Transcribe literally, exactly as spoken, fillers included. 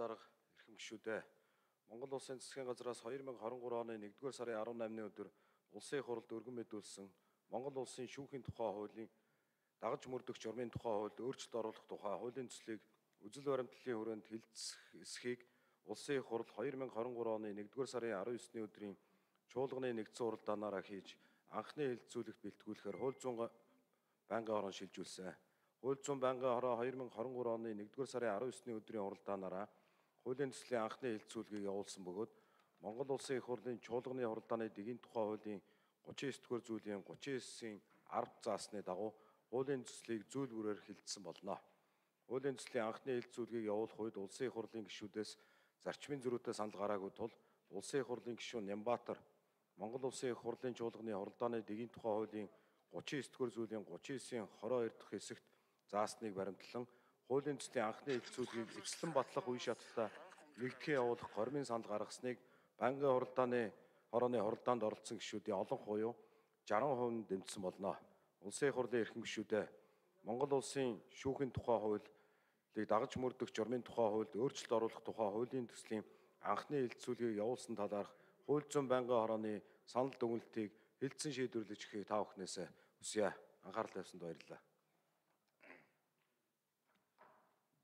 дарга эрхэм гишүүдээ Монгол Улсын засгийн газраас хоёр мянга хорин гурав оны нэгдүгээр сарын арван намын өдөр улсын их хурлд өргөн мэдүүлсэн Монгол Улсын шүүхийн тухай хуулийн дагаж мөрдөх журмын тухай хуульд өөрчлөлт оруулах тухай хуулийн төслийг үзэл баримтлалын хүрээнд хэлэлцэхийг улсын их хурл хоёр мянга хорин гурав оны нэгдүгээр сарын арван есний өдрийн чуулганы нэгдсэн уралдаанаараа хийж анхны хэлэлцүүлэгт бэлтгүүлэхээр хууль зүйн байнгын хорон шилжүүлсэн. Хууль зүйн байнгын хороо хоёр мянга хорин гурав оны нэгдүгээр сарын арван есний өдрийн уралдаанаараа хуулийн төслийн анхны хэлэлцүүлгийг явуулсан бөгөөд Монгол Улсын их хурлын чуулганы уралдааны дэгийн тухай хуулийн гучин эс дугаар зүйлийн гучин эсийн арав заасны дагуу хуулийн төслийг зүйл бүрээр хэлэлцсэн болно. Хуулийн төслийн анхны хэлэлцүүлгийг явуулах үед улсын их хурлын гишүүдээс зарчмын зөрүүтэй санал гараагүй тул улсын их хурлын гишүүн Нямбатар Монгол Улсын их хурлын чуулганы уралдааны дэгийн тухай хуулийн гучин эс дугаар зүйлийн гучин эсийн хороо хоёр дахь хэсэгт заасныг баримтлан хуулийн төслийн анхны хэлэлцүүлгийг эцэслэн батлах үе шаттай нэгтгэн явуулах гормын санал гаргасныг байнгын уралдааны хорооны хуралдаанд оролцсон гишүүдийн олон хууй жарган хувь дэмжсэн болно. Улсын их хурлын эрхэм гишүүдээ Монгол Улсын шүүхийн тухай хуулийг дагаж мөрдөх журмын тухай хуульд өөрчлөлт оруулах тухай хуулийн төслийн анхны хэлэлцүүлгийг явуулсан талаарх хууль зүйн байнгын хорооны санал дүгнэлтийг хэлэлцэн шийдвэрлэж өгөхийг та бүхнээс хүсье. Анхаарал тавьсанд баярлалаа.